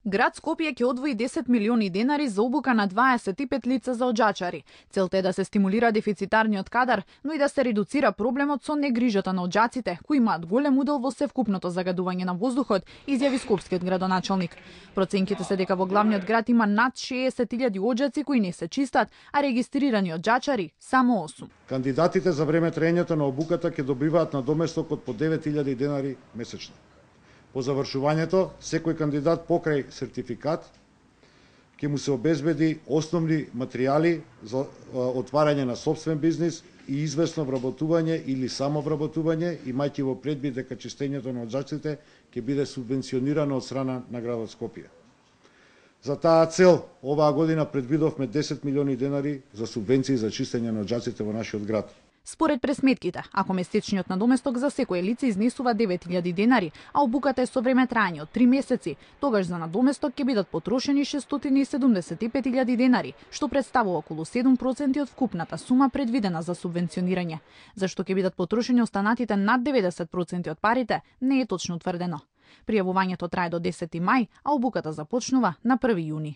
Град Скопје ќе одвои 10 милиони денари за обука на 25 лица за оџачари. Целта е да се стимулира дефицитарниот кадар, но и да се редуцира проблемот со негрижата на оџаците, кои имаат голем удел во севкупното загадување на воздухот, изјави скопскиот градоначалник. Проценките се дека во главниот град има над 60.000 оџаци кои не се чистат, а регистрирани оџачари само 8. Кандидатите за време траењето на обуката ќе добиваат надоместок од по 9.000 денари месечно. По завршувањето, секој кандидат покрај сертификат ќе му се обезбеди основни материјали за отварање на сопствен бизнис и известно вработување или самовработување, имајќи во предвид дека чистењето на оџаците ќе биде субвенционирано од страна на градот Скопје. За таа цел, оваа година предвидовме 10 милиони денари за субвенции за чистење на оџаците во нашиот град. Според пресметките, ако месечниот надоместок за секое лице изнесува 9.000 денари, а обуката е со време траење од 3 месеци, тогаш за надоместок ќе бидат потрошени 675.000 денари, што представува околу 7% од вкупната сума предвидена за субвенционирање. Зашто ќе бидат потрошени останатите над 90% од парите, не е точно утврдено. Пријавувањето трае до 10 мај, а обуката започнува на 1 јуни.